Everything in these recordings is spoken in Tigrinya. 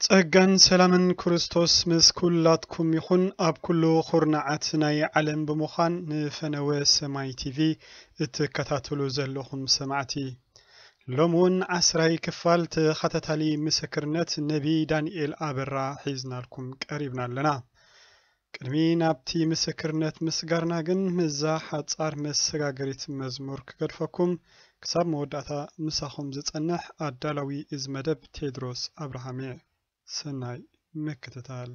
ጸጋን ሰላምን ክርስቶስ ምስ ኩላትኩም ይኹን። ኣብ ኩሉ ኹርናዓት ናይ ዓለም ብምዃን ንፈነወ ሰማይ ቲቪ እትከታተሉ ዘለኹም ሰማዕቲ፣ ሎሚ እውን ዓስራይ ክፋል ተኸታታሊ ምስክርነት ነቢ ዳንኤል ኣበራ ሒዝናልኩም ቀሪብና ኣለና። ቅድሚ ናብቲ ምስክርነት ምስጋርና ግን፣ ምስዛ ሓጻር መሰጋገሪት መዝሙር ክገድፈኩም፣ ክሳብ መወዳእታ ምሳኹም ዝጸንሕ ኣዳላዊ እዚ መደብ ቴድሮስ ኣብርሃም እየ። ሰናይ ምክትታል።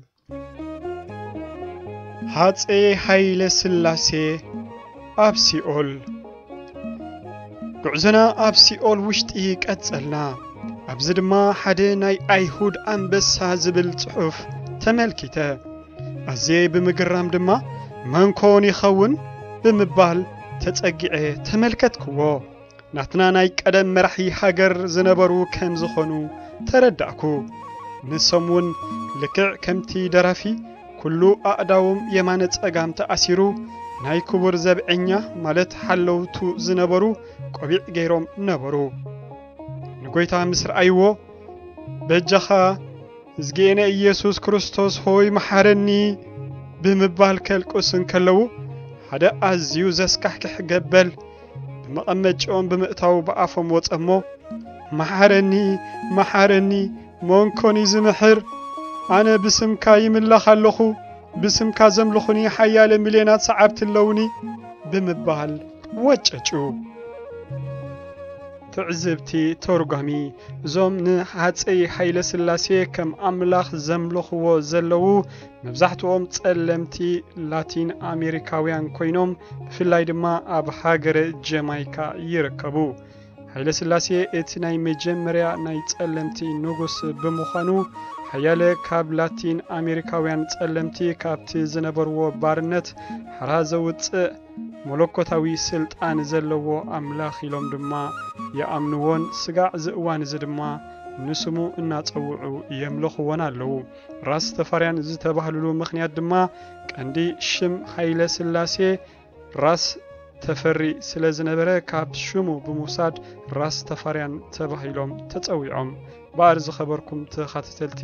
ሃጸይ ሃይለ ስላሴ ኣብ ሲኦል። ጉዕዞና ኣብ ሲኦል ውሽጢ ቀጸልና። ኣብዚ ድማ ሓደ ናይ ኣይሁድ ኣንበሳ ዝብል ጽሑፍ ተመልኪተ። ኣዝየ ብምግራም ድማ፣ "መን ኮን ይኸውን?" ብምባል ተጸጊዐ ተመልከትክዎ። ናትና ናይ ቀደም መራሒ ሃገር ዝነበሩ ከም ዝኾኑ ተረዳእኩ። ንሶም እውን ልክዕ ከምቲ ደራፊ፣ ኩሉ ኣእዳዎም የማነ ጸጋም ተኣሲሩ፣ ናይ ክቡር ዘብዐኛ፣ ማለት ሓለውቱ ዝነበሩ፣ ቆቢዕ ገይሮም ነበሩ። ንጎይታ ምስ ረኣይዎ፣ "በጃኻ፣ እዝግኤነ ኢየሱስ ክርስቶስ ሆይ፣ መሓረኒ" ብምባል ከልቅሱ እንከለዉ፣ ሓደ ኣዝዩ ዘስካሕክሕ ገበል ብመቐመጭኦም ብምእታው ብኣፎም ወጸ እሞ፣ "መሓረኒ፣ መሓረኒ፣ መን ኮን እዩ ዝምሕር? ኣነ ብስምካ ይምላኽ ኣለኹ፣ ብስምካ ዘምልኹኒ ሓያለ ሚልዮናት ሰዓብቲ ኣለዉኒ" ብምባል ወጨጩ። ትዕዝብቲ ተርጓሚ። እዞም ንሃጸይ ሃይለ ስላሴ ከም ኣምላኽ ዘምልኽዎ ዘለዉ፣ መብዛሕትኦም ጸለምቲ ላቲን ኣሜሪካውያን ኮይኖም፣ ብፍላይ ድማ ኣብ ሃገረ ጀማይካ ይርከቡ። ሃይለ ስላሴ እቲ ናይ መጀመርያ ናይ ጸለምቲ ንጉስ ብምዃኑ፣ ሓያለ ካብ ላቲን ኣሜሪካውያን ጸለምቲ ካብቲ ዝነበርዎ ባርነት ሓራ ዘውጽእ መለኮታዊ ስልጣን ዘለዎ ኣምላኽ ኢሎም ድማ ይኣምንዎን፣ ስጋዕ እዚ እዋን እዚ ድማ ንስሙ እናጸውዑ የምልኽዎን ኣለዉ። ራስ ተፋርያን ዝተባህልሉ ምኽንያት ድማ፣ ቀንዲ ሽም ሃይለ ስላሴ ራስ ተፈሪ ስለ ዝነበረ፣ ካብ ሽሙ ብምውሳድ ራስ ተፋርያን ተባሂሎም ተጸዊዖም። እምበኣር ዝኸበርኩም ተኻተተልቲ፣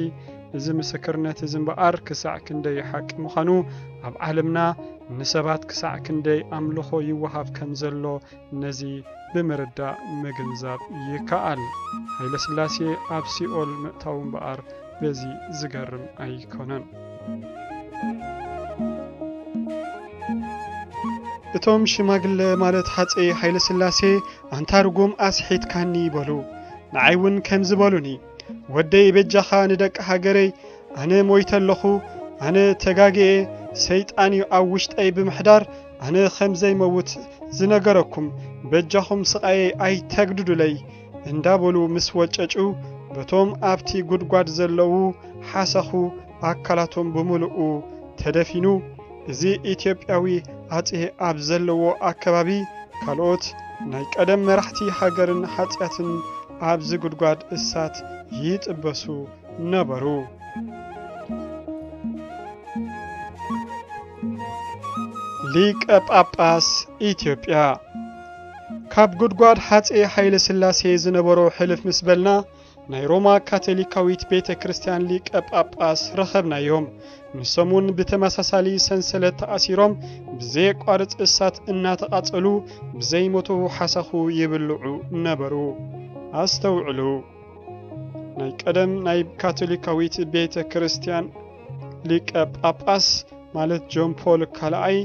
እዚ ምስክርነት እዚ እምበኣር ክሳዕ ክንደይ ሓቂ ምዃኑ፣ ኣብ ዓለምና ንሰባት ክሳዕ ክንደይ ኣምልኾ ይወሃብ ከም ዘሎ፣ ነዚ ብምርዳእ ምግንዛብ ይከኣል። ሃይለ ስላሴ ኣብ ሲኦል ምእታው እምበኣር በዚ ዝገርም ኣይኮነን። እቶም ሽማግለ፣ ማለት ሃጸይ ሃይለ ስላሴ፣ "ኣንታ ርጉም፣ ኣስሒትካኒ" በሉ። ንዓይ እውን ከምዚ በሉኒ። "ወደይ፣ በጃኻ ንደቂ ሃገረይ፣ ኣነ ሞይተ ኣለኹ፣ ኣነ ተጋግየ፣ ሰይጣን እዩ ኣብ ውሽጠይ ብምሕዳር፣ ኣነ ከም ዘይመውት ዝነገረኩም፣ በጃኹም ስቓየይ ኣይተግድዱለይ" እንዳበሉ ምስ ወጨጩ፣ በቶም ኣብቲ ጉድጓድ ዘለዉ ሓሰኹ ኣካላቶም ብምልኡ ተደፊኑ። እዚ ኢትዮጵያዊ ኣጼ ኣብ ዘለዎ ኣከባቢ፣ ካልኦት ናይ ቀደም መራሕቲ ሃገርን ሓጽያትን ኣብዚ ጉድጓድ እሳት ይጥበሱ ነበሩ። ሊቀ ጳጳስ ኢትዮጵያ። ካብ ጉድጓድ ሃጼ ሃይለ ስላሴ ዝነበሮ ሕልፍ ምስ በልና፣ ናይ ሮማ ካቶሊካዊት ቤተ ክርስቲያን ሊቀ ጳጳስ ረኸብናዮም። ንሶም እውን ብተመሳሳሊ ሰንሰለት ተኣሲሮም፣ ብዘየቋርጽ እሳት እናተቓጸሉ፣ ብዘይሞቱ ሓሳኹ ይብልዑ ነበሩ። ኣስተውዕሉ፣ ናይ ቀደም ናይ ካቶሊካዊት ቤተ ክርስቲያን ሊቀ ጳጳስ፣ ማለት ጆን ፖል ካልኣይ፣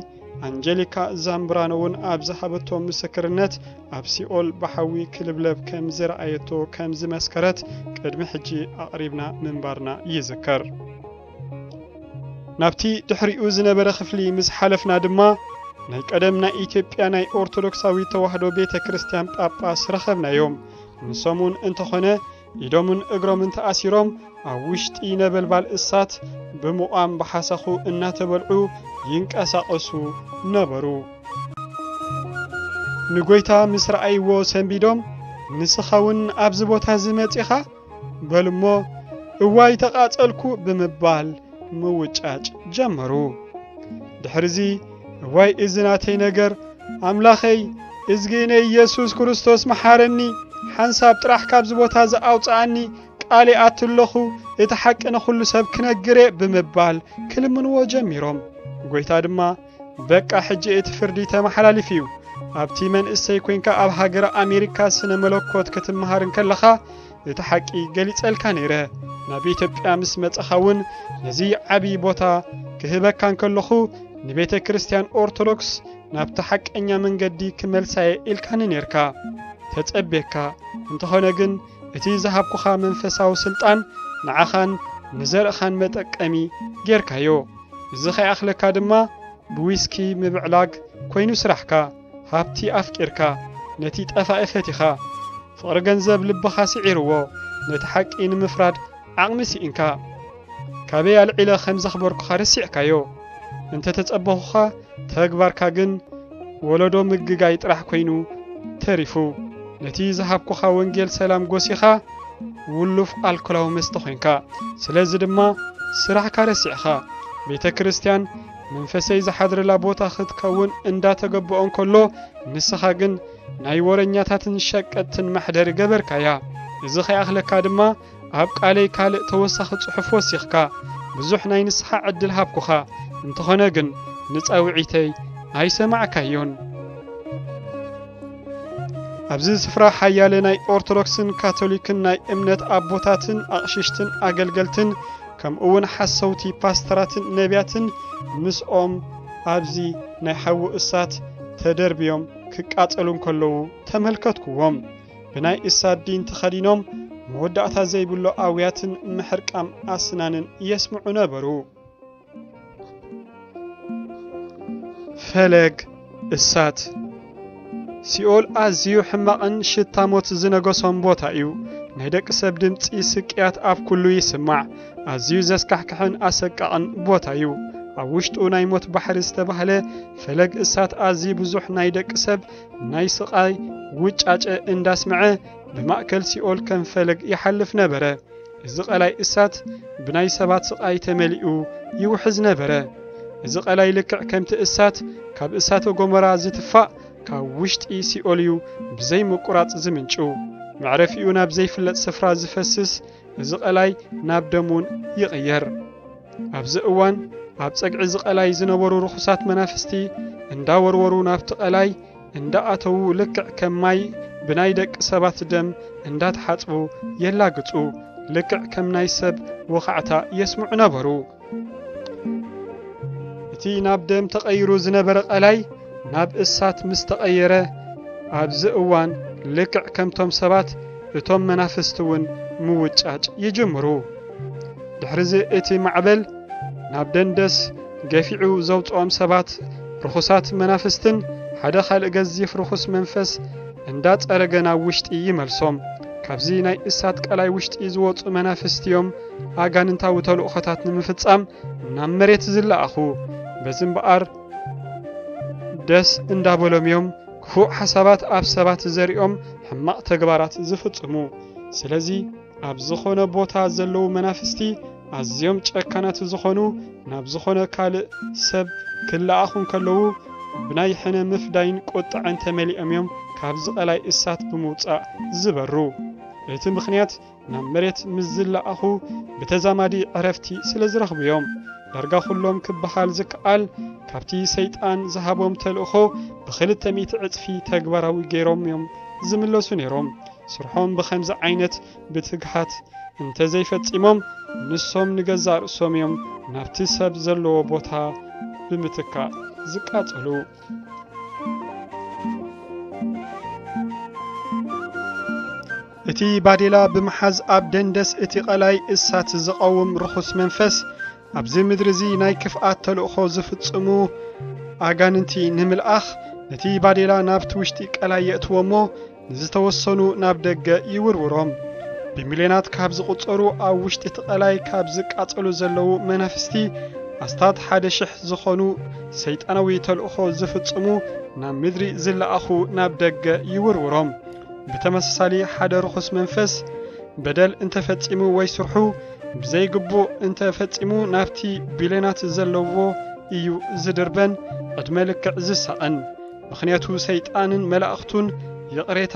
ኣንጀሊካ ዛምብራኖ እውን ኣብ ዝሃበቶ ምስክርነት፣ ኣብ ሲኦል ብሓዊ ክልብለብ ከም ዝረኣየቶ ከም ዝመስከረት ቅድሚ ሕጂ ኣቕሪብና ምንባርና ይዝከር። ናብቲ ድሕሪኡ ዝነበረ ክፍሊ ምስ ሓለፍና ድማ፣ ናይ ቀደም ናይ ኢትዮጵያ ናይ ኦርቶዶክሳዊት ተዋህዶ ቤተ ክርስቲያን ጳጳስ ረኸብናዮም። ንሶም እውን እንተኾነ፣ ኢዶምን እግሮምን ተኣሲሮም፣ ኣብ ውሽጢ ነበልባል እሳት ብምቋም ብሓሳኹ እናተበልዑ ይንቀሳቐሱ ነበሩ። ንጎይታ ምስ ረኣይዎ ሰንቢዶም፣ "ንስኻ እውን ኣብዚ ቦታ እዚ መጺኻ?" በሉ እሞ፣ "እዋይ ተቓጸልኩ" ብምባል ምውጫጭ ጀመሩ። ድሕርዚ፣ "እዋይ እዚ ናተይ ነገር፣ ኣምላኸይ፣ እዝግእነ ኢየሱስ ክርስቶስ መሓረኒ፣ ሓንሳብ ጥራሕ ካብዚ ቦታ እዚ ኣውጽኣኒ፣ ቃል ይኣቱ ኣለኹ፣ እቲ ሓቂ ንኹሉ ሰብ ክነግር እየ ብምባል ክልምንዎ ጀሚሮም። ጎይታ ድማ፣ በቃ ሕጂ እቲ ፍርዲ ተመሓላሊፉ እዩ። ኣብቲ መንእሰይ ኮይንካ ኣብ ሃገረ ኣሜሪካ ስነ መለኮት ክትመሃር እንከለኻ እቲ ሓቂ ገሊጸልካ ነይረ። ናብ ኢትዮጵያ ምስ መጻኻ እውን ነዚ ዓቢ ቦታ ክህበካ እንከለኹ ንቤተ ክርስቲያን ኦርቶዶክስ ናብቲ ሓቀኛ መንገዲ ክመልሳየ ኢልካኒ ነርካ። ተጸቤካ። እንተኾነ ግን እቲ ዝሃብኩኻ መንፈሳዊ ስልጣን ንዓኻን ንዘርእኻን መጠቀሚ ጌርካዮ። እዚ ከይኣኽለካ ድማ ብዊስኪ ምብዕላግ ኮይኑ ስራሕካ። ሃብቲ ኣፍቂርካ፣ ነቲ ጠፋኢ ፈቲኻ። ፍቕሪ ገንዘብ ልብኻ ስዒርዎ፣ ነቲ ሓቂ ንምፍራድ ዓቕሚ ስኢንካ። ካበይ ኣልዒለ ከም ዘኽበርኩኻ ረሲዕካዮ። እንተ ተጸበኹኻ፣ ተግባርካ ግን ወለዶ ምግጋይ ጥራሕ ኮይኑ ተሪፉ። ነቲ ዝሃብኩኻ ወንጌል ሰላም ጎሲኻ፣ ውሉፍ ኣልኮላዊ መስተ ኮይንካ። ስለዚ ድማ ስራሕካ ረሲዕኻ። ቤተ ክርስቲያን መንፈሰይ ዝሓድረላ ቦታ ክትከውን እንዳተገበኦ እንከሎ፣ ንስኻ ግን ናይ ወረኛታትን ሸቀጥትን መሕደሪ ገበርካያ። እዚ ከይኣኽለካ ድማ ኣብ ቃለይ ካልእ ተወሳኺ ጽሑፍ ወሲኽካ። ብዙሕ ናይ ንስሓ ዕድል ሃብኩኻ። እንተኾነ ግን ንጻውዒተይ ኣይሰማዕካዮን። ኣብዚ ስፍራ ሓያለ ናይ ኦርቶዶክስን ካቶሊክን ናይ እምነት ኣቦታትን ኣቕሽሽትን ኣገልገልትን ከምኡውን ሓሰውቲ ፓስተራትን ነቢያትን ምስኦም ኣብዚ ናይ ሓዊ እሳት ተደርብዮም ክቃጸሉ እንከለዉ ተመልከትኩዎም። ብናይ እሳት ዲን ተኸዲኖም መወዳእታ ዘይብሎ ኣውያትን ምሕርቃም ኣስናንን የስምዑ ነበሩ። ፈለግ እሳት። ሲኦል ኣዝዩ ሕማቕን ሽታ ሞት ዝነገሶን ቦታ እዩ። ናይ ደቂ ሰብ ድምጺ ስቅያት ኣብ ኩሉ ይስማዕ። ኣዝዩ ዘስካሕክሕን ኣሰቃቕን ቦታ እዩ። ኣብ ውሽጡ ናይ ሞት ባሕሪ ዝተባህለ ፈለግ እሳት ኣዝዩ ብዙሕ ናይ ደቂ ሰብ ናይ ስቓይ ውጫጨ እንዳስምዐ ብማእከል ሲኦል ከም ፈለግ ይሓልፍ ነበረ። እዚ ቀላይ እሳት ብናይ ሰባት ስቓይ ተመሊኡ ይውሕዝ ነበረ። እዚ ቀላይ ልክዕ ከምቲ እሳት ካብ እሳተ ጎመራ ዝትፋእ ካብ ውሽጢ ሲኦል እዩ ብዘይ ምቁራጽ ዝምንጩ። መዕረፊኡ ናብ ዘይፍለጥ ስፍራ ዝፈስስ እዚ ቀላይ ናብ ደም እውን ይቕየር። ኣብዚ እዋን ኣብ ጸግዒ እዚ ቀላይ ዝነበሩ ርኹሳት መናፍስቲ እንዳወርወሩ ናብቲ ቀላይ እንዳኣተዉ ልክዕ ከም ማይ ብናይ ደቂ ሰባት ደም እንዳተሓጽቡ የላግጹ፣ ልክዕ ከም ናይ ሰብ ወኻዕታ የስምዑ ነበሩ። እቲ ናብ ደም ተቐይሩ ዝነበረ ቀላይ ናብ እሳት ምስ ተቐየረ፣ ኣብዚ እዋን ልክዕ ከምቶም ሰባት እቶም መናፍስቲ እውን ምውጫጭ ይጅምሩ። ድሕሪዚ እቲ ማዕበል ናብ ደንደስ ገፊዑ ዘውጽኦም ሰባት ርኹሳት መናፍስትን ሓደ ካልእ ገዚፍ ርኹስ መንፈስ እንዳጸረገ ናብ ውሽጢ ይመልሶም። ካብዚ ናይ እሳት ቀላይ ውሽጢ ዝወጹ መናፍስቲ እዮም ኣጋንንታዊ ተልእኾታት ንምፍጻም ናብ መሬት ዝለኣኹ። በዚ እምበኣር ደስ እንዳበሎም እዮም ክፉእ ሓሳባት ኣብ ሰባት ዘሪኦም ሕማቕ ተግባራት ዝፍጽሙ። ስለዚ ኣብ ዝኾነ ቦታ ዘለዉ መናፍስቲ ኣዝዮም ጨካናት ዝኾኑ ናብ ዝኾነ ካልእ ሰብ ክለኣኹ እንከለዉ ብናይ ሕነ ምፍዳይን ቁጥዐን ተመሊኦም እዮም ካብዚ ቀላይ እሳት ብምውጻእ ዝበሩ። እቲ ምኽንያት ናብ መሬት ምስ ዝለኣኹ ብተዛማዲ ዕረፍቲ ስለ ዝረኽቡ እዮም። ዳርጋ ኩሎም ክበሃል ዝከኣል ካብቲ ሰይጣን ዝሃቦም ተልእኾ ብኽልተ ሚእቲ ዕጽፊ ተግባራዊ ገይሮም እዮም ዝምለሱ ነይሮም። ስርሖም ብኸምዚ ዓይነት ብትግሃት እንተዘይፈጺሞም ንሶም ንገዛእ ርእሶም እዮም ናብቲ ሰብ ዘለዎ ቦታ ብምትካእ ዝቃጸሉ። እቲ ባዴላ ብምሓዝ ኣብ ደንደስ እቲ ቀላይ እሳት ዝቐውም ርኹስ መንፈስ ኣብዚ ምድሪ እዚ ናይ ክፍኣት ተልእኾ ዝፍጽሙ ኣጋንንቲ ንምልኣኽ ነቲ ባዴላ ናብቲ ውሽጢ ቀላይ የእትዎ እሞ ንዝተወሰኑ ናብ ደገ ይውርውሮም። ብሚልዮናት ካብ ዝቑጸሩ ኣብ ውሽጢ እቲ ቀላይ ካብ ዝቃጸሉ ዘለዉ መናፍስቲ ኣስታት ሓደ ሽሕ ዝኾኑ ሰይጣናዊ ተልእኾ ዝፍጽሙ ናብ ምድሪ ዝለኣኹ ናብ ደገ ይውርውሮም። ብተመሳሳሊ ሓደ ርኹስ መንፈስ በደል እንተፈጺሙ ወይ ስርሑ ብዘይግቡእ እንተፈጺሙ ናብቲ ቢልዮናት ዘለዎ እዩ ዝድርበን ዕድመ ልክዕ ዝሳቐን። ምኽንያቱ ሰይጣንን መላእኽቱን ይቕሬታ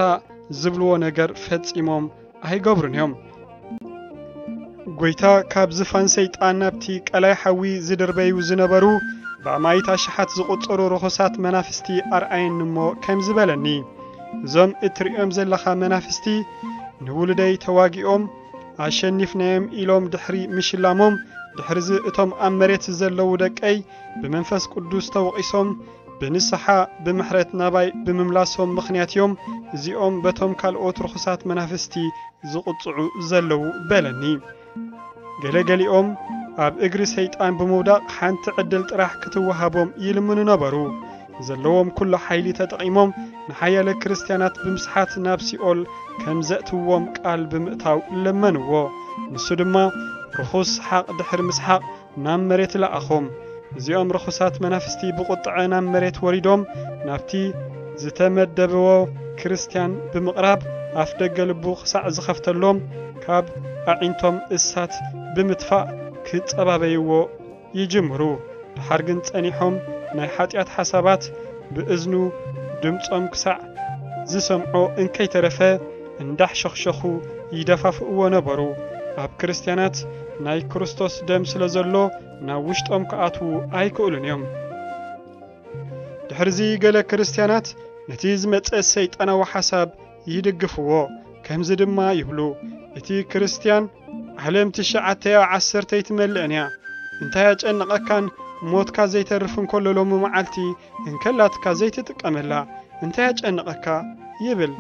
ዝብልዎ ነገር ፈጺሞም ኣይገብሩን እዮም። ጎይታ ካብ ዝፋን ሰይጣን ናብቲ ቀላይ ሓዊ ዝድርበዩ ዝነበሩ ብኣማይት ኣሽሓት ዝቑጸሩ ርኹሳት መናፍስቲ ኣርኣየኒ እሞ ከምዚ በለኒ፣ እዞም እትርእዮም ዘለኻ መናፍስቲ ንውሉደይ ተዋጊኦም ኣሸኒፍናዮም ኢሎም ድሕሪ ምሽላሞም፣ ድሕርዚ እቶም ኣብ መሬት ዘለዉ ደቀይ ብመንፈስ ቅዱስ ተወቒሶም ብንስሓ ብምሕረት ናባይ ብምምላሶም ምኽንያት እዮም እዚኦም በቶም ካልኦት ርኹሳት መናፍስቲ ዝቕጽዑ ዘለዉ በለኒ። ገለገሊኦም ኣብ እግሪ ሰይጣን ብምውዳቕ ሓንቲ ዕድል ጥራሕ ክትወሃቦም ይልምኑ ነበሩ። ዘለዎም ኩሉ ሓይሊ ተጠቒሞም ንሓያለ ክርስትያናት ብምስሓት ናብ ሲኦል ከም ዘእትዎም ቃል ብምእታው ለመንዎ። ንሱ ድማ ርኹስ ሰሓቕ ድሕሪ ምስሓቕ ናብ መሬት ለኣኾም። እዚኦም ርኹሳት መናፍስቲ ብቑጥዐ ናብ መሬት ወሪዶም ናብቲ ዝተመደብዎ ክርስትያን ብምቕራብ ኣፍ ደገ ልቡ ክሳዕ ዝኸፍተሎም ካብ ኣዒንቶም እሳት ብምትፋእ ክጸባበይዎ ይጅምሩ። ደሓር ግን ጸኒሖም ናይ ሓጢኣት ሓሳባት ብእዝኑ ድምጾም ክሳዕ ዝሰምዖ እንከይተረፈ እንዳሕሸኽሸኹ ይደፋፍእዎ ነበሩ። ኣብ ክርስትያናት ናይ ክርስቶስ ደም ስለ ዘሎ ናብ ውሽጦም ክኣትዉ ኣይክእሉን እዮም። ድሕርዚ ገለ ክርስትያናት ነቲ ዝመጸ ሰይጣናዊ ሓሳብ ይድግፍዎ። ከምዚ ድማ ይብሉ፣ እቲ ክርስትያን ዓለም ትሽዓተ ዓሰርተ ኣይትመልእን እያ። እንታይ ኣጨነቐካን ሞትካ ዘይተርፍ እንከሎ ሎሚ መዓልቲ እንከላትካ ዘይትጥቀመላ እንታይ ኣጨነቐካ ይብል።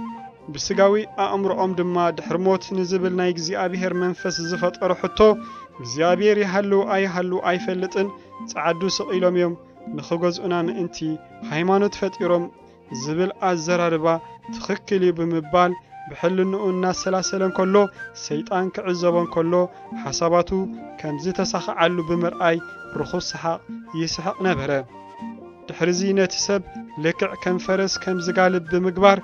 ብስጋዊ ኣእምሮኦም ድማ ድሕሪ ሞት ንዝብል ናይ እግዚኣብሔር መንፈስ ዝፈጠሮ ሕቶ እግዚኣብሔር ይሃሉ ኣይሃሉ ኣይፈልጥን ጸዓዱ ስቕ ኢሎም እዮም ንኽገዝኡና ምእንቲ ሃይማኖት ፈጢሮም ዝብል ኣዘራርባ ትኽክል እዩ ብምባል ብሕልንኡ እናሰላሰለ እንከሎ ሰይጣን ክዕዘቦ እንከሎ ሓሳባቱ ከም ዝተሳኽዓሉ ብምርኣይ ርኹስ ሰሓቕ ይስሕቕ ነበረ። ድሕርዚ ነቲ ሰብ ልክዕ ከም ፈረስ ከም ዝጋልብ ብምግባር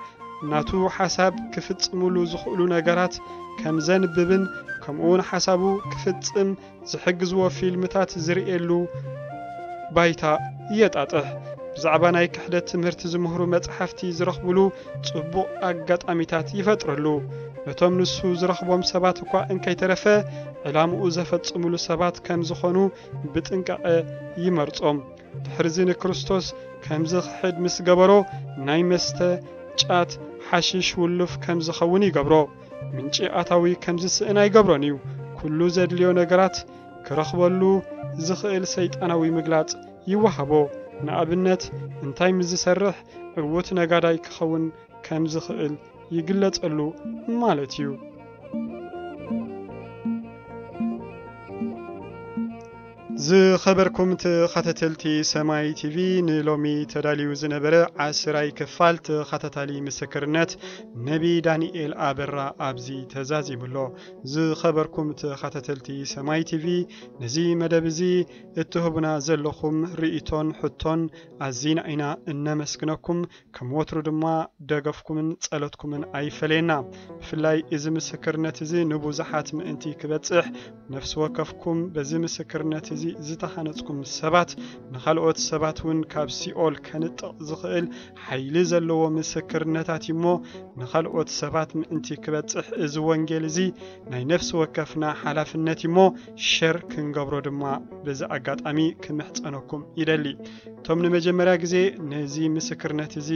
ናቱ ሓሳብ ክፍጽምሉ ዝኽእሉ ነገራት ከም ዘንብብን ከምኡውን ሓሳቡ ክፍጽም ዝሕግዝዎ ፊልምታት ዝርእየሉ ባይታ የጣጥሕ። ብዛዕባ ናይ ክሕደት ትምህርቲ ዝምህሩ መጽሓፍቲ ዝረኽብሉ ጽቡቕ ኣጋጣሚታት ይፈጥረሉ። ነቶም ንሱ ዝረኽቦም ሰባት እኳ እንከይተረፈ ዕላምኡ ዘፈጽምሉ ሰባት ከም ዝኾኑ ብጥንቃቐ ይመርጾም። ድሕርዚ ንክርስቶስ ከም ዝኽሕድ ምስ ገበሮ ናይ መስተ፣ ጫት፣ ሓሽሽ ውሉፍ ከም ዝኸውን ይገብሮ። ምንጪ ኣታዊ ከም ዝስእን ኣይገብሮን እዩ። ኩሉ ዘድልዮ ነገራት ክረኽበሉ ዝኽእል ሰይጣናዊ ምግላጽ ይወሃቦ። ንኣብነት እንታይ ምስ ዝሰርሕ ዕዉት ነጋዳይ ክኸውን ከም ዝኽእል ይግለጸሉ ማለት እዩ። ዝኸበርኩም ተኸታተልቲ ሰማይ ቲቪ ንሎሚ ተዳልዩ ዝነበረ ዓስራይ ክፋል ተኸታታሊ ምስክርነት ነቢ ዳንኤል ኣበራ ኣብዚ ተዛዚሙ ኣሎ። ዝኸበርኩም ተኸታተልቲ ሰማይ ቲቪ ነዚ መደብ እዚ እትህቡና ዘለኹም ርእይቶን ሕቶን ኣዚና ኢና እነመስግነኩም። ከም ወትሩ ድማ ደገፍኩምን ጸሎትኩምን ኣይፈለየና። ብፍላይ እዚ ምስክርነት እዚ ንብዙሓት ምእንቲ ክበጽሕ ነፍሲ ወከፍኩም በዚ ምስክርነት እዚ ዝተሃነጽኩም ሰባት ንኻልኦት ሰባት እውን ካብ ሲኦል ከንጥቕ ዝኽእል ሓይሊ ዘለዎ ምስክርነታት እዩ እሞ ንኻልኦት ሰባት ምእንቲ ክበጽሕ እዚ ወንጌል እዚ ናይ ነፍሲ ወከፍና ሓላፍነት እዩ እሞ ሸር ክንገብሮ ድማ በዚ ኣጋጣሚ ክምሕጸነኩም ይደሊ። እቶም ንመጀመርያ ግዜ ነዚ ምስክርነት እዚ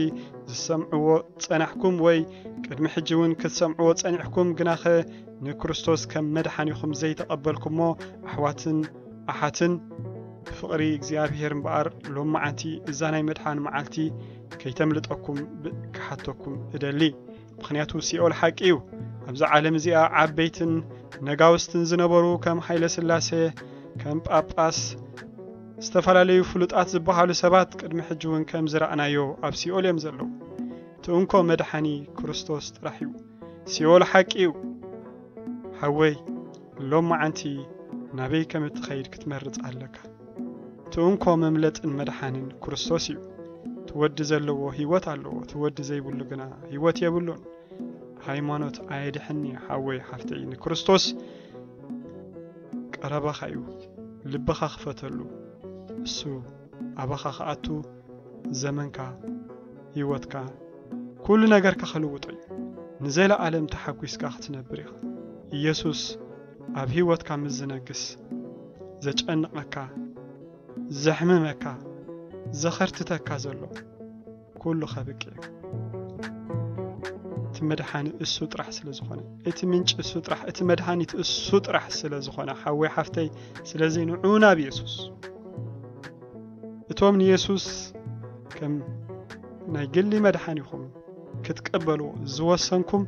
ዝሰምዕዎ ጸናሕኩም ወይ ቅድሚ ሕጂ እውን ክትሰምዕዎ ጸኒሕኩም ግናኸ ንክርስቶስ ከም መድሓኒኹም ዘይተቐበልኩሞ ኣሕዋትን ኣሓትን ብፍቕሪ እግዚኣብሔር እምበኣር ሎመዓንቲ እዛ ናይ መድሓን መዓልቲ ከይተምልጠኩም ብ-፣ ክሓተኩም እደሊ። ምኽንያቱ ሲኦል ሓቂ እዩ። ኣብዚ ዓለም እዚኣ ዓበይትን ነጋውስትን ዝነበሩ ከም ሃይለ ስላሴ፣ ከም ጳጳስ፣ ዝተፈላለዩ ፍሉጣት ዝበሃሉ ሰባት ቅድሚ ሕጂ እውን ከም ዝረኣናዮ ኣብ ሲኦል እዮም ዘለዉ። እቲ እንኮ መድሓኒ ክርስቶስ ጥራሕ እዩ። ሲኦል ሓቂ እዩ። ሓወይ፣ ሎም መዓንቲ ናበይ ከም እትኸይድ ክትመርጽ ኣለካ። እቲ እንኮ መምለጥን መድሓንን ክርስቶስ እዩ። እቲ ወዲ ዘለዎ ህይወት ኣለዎ፣ እቲ ወዲ ዘይብሉ ግና ህይወት የብሉን። ሃይማኖት ኣየድሕን እዩ ሓወይ ሓፍተይ፣ ንክርስቶስ ቀረባኻ እዩ። ልብኻ ክፈተሉ፣ እሱ ኣባኻ ክኣቱ ዘመንካ፣ ህይወትካ፣ ኩሉ ነገርካ ክልውጦ እዩ። ንዘለኣለም ተሓጒስካ ክትነብር ኢኻ። ኢየሱስ ኣብ ህይወትካ ምስ ዝነግስ፣ ዘጨንቐካ፣ ዘሕምመካ፣ ዘኸርትተካ ዘሎ ኩሉ ከብቅዕ እዩ። እቲ መድሓኒ እሱ ጥራሕ ስለ ዝኾነ፣ እቲ ምንጪ እሱ ጥራሕ፣ እቲ መድሃኒት እሱ ጥራሕ ስለ ዝኾነ፣ ሓወይ ሓፍተይ፣ ስለዚ ንዑ ናብ የሱስ። እቶም ንየሱስ ከም ናይ ግሊ መድሓኒኹም ክትቀበሉ ዝወሰንኩም፣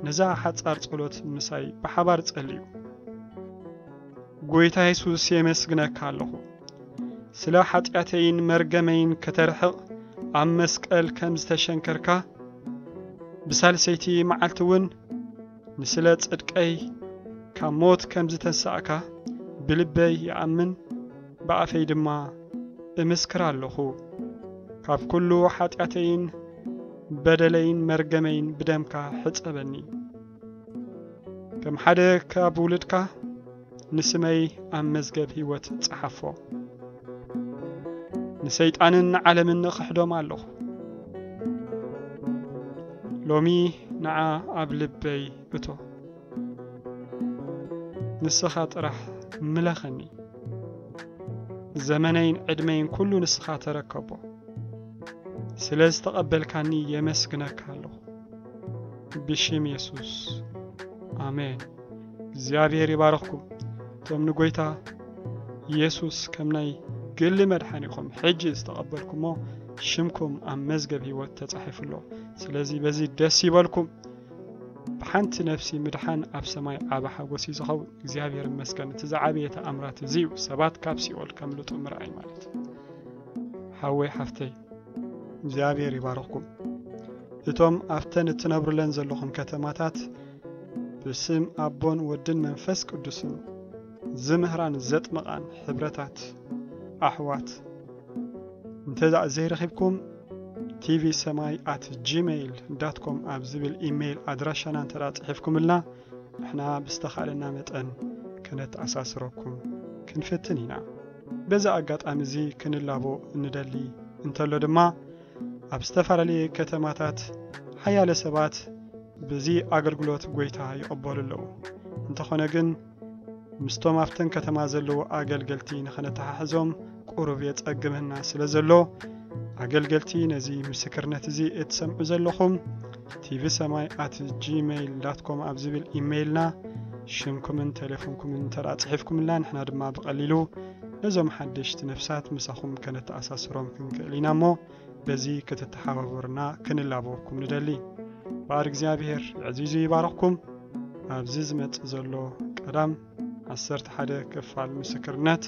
ነዛ ሓጻር ጸሎት ምሳይ ብሓባር ጸልዩ። ጎይታ የሱስ፣ የመስግነካ ኣለኹ። ስለ ሓጢኣተይን መርገመይን ከተርሕቕ ኣብ መስቀል ከም ዝተሸንከርካ፣ ብሳልሰይቲ መዓልቲ እውን ንስለ ጽድቀይ ካብ ሞት ከም ዝተንሳእካ ብልበይ ይኣምን፣ ብኣፈይ ድማ እምስክር ኣለኹ። ካብ ኩሉ ሓጢኣተይን በደለይን መርገመይን ብደምካ ሕጸበኒ። ከም ሓደ ካብ ውሉድካ ንስመይ ኣብ መዝገብ ህይወት ጸሓፎ። ንሰይጣንን ንዓለምን እኽሕዶም ኣለኹ። ሎሚ ንዓ ኣብ ልበይ እቶ። ንስኻ ጥራሕ ምለኸኒ። ዘመነይን ዕድመይን ኩሉ ንስኻ ተረከቦ። ስለ ዝተቐበልካኒ የመስግነካ ኣለኹ። ብሽም የሱስ፣ ኣሜን። እግዚኣብሔር ይባርኽኩም። እቶም ንጎይታ የሱስ ከም ናይ ግሊ መድሓኒኹም ሕጂ ዝተቐበልኩሞ፣ ሽምኩም ኣብ መዝገብ ህይወት ተጻሒፉ ኣሎ። ስለዚ በዚ ደስ ይበልኩም። ብሓንቲ ነፍሲ ምድሓን ኣብ ሰማይ ዓቢ ሓጎስ እዩ ዝኸውን። እግዚኣብሔር ይመስገን። እቲ ዝዓበየ ተኣምራት እዚ እዩ፣ ሰባት ካብ ሲኦል ከምልጡ ምርኣይ ማለት። ሓወይ ሓፍተይ፣ እግዚኣብሔር ይባርኽኩም። እቶም ኣብተን እትነብሩለን ዘለኹም ከተማታት ብስም ኣቦን ወድን መንፈስ ቅዱስን ዝምህራን ዘጥምቓን ሕብረታት ኣሕዋት እንተ ዘይረኺብኩም፣ ቲቪ ሰማይ ኣት ጂሜይል ዳት ኮም ኣብ ዝብል ኢሜይል ኣድራሻና እንተ ጽሒፍኩምልና፣ ንሕና ብዝተኻእለና መጠን ከነተኣሳስረኩም ክንፍትን ኢና። በዚ ኣጋጣሚ እዚ ክንላቦ እንደሊ እንተሎ ድማ፣ ኣብ ዝተፈላለየ ከተማታት ሓያለ ሰባት በዚ ኣገልግሎት ጎይታ ይቕበሉ ኣለዉ። እንተኾነ ግን፣ ምስቶም ኣብተን ከተማ ዘለዉ ኣገልገልቲ ንኸነተሓሕዞም ቁሩብ የጸግመና ስለ ዘሎ፣ ኣገልገልቲ ነዚ ምስክርነት እዚ እትሰምዑ ዘለኹም፣ ቲቪ ሰማይ ኣት ጂሜይል ዳት ኮም ኣብ ዝብል ኢሜይልና ሽምኩምን ቴሌፎንኩምን እንተ ደኣ ጽሒፍኩምልና፣ ንሕና ድማ ብቐሊሉ ነዞም ሓደሽቲ ነፍሳት ምሳኹም ከነተኣሳስሮም ክንክእል ኢና እሞ፣ በዚ ክትተሓባበሩና ክንላበወኩም ንደሊ። በኣር እግዚኣብሔር ዕዚዙ ይባርኽኩም። ኣብዚ ዝመጽእ ዘሎ ቀዳም ዓሰርተ ሓደ ክፋል ምስክርነት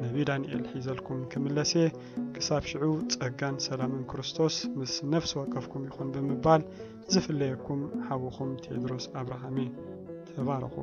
ነቢ ዳንኤል ሒዘልኩም ክምለስ እየ። ክሳብ ሽዑ ጸጋን ሰላምን ክርስቶስ ምስ ነፍሲ ወከፍኩም ይኹን ብምባል ዝፍለየኩም ሓውኹም ቴድሮስ ኣብርሃም እየ። ተባረኹ።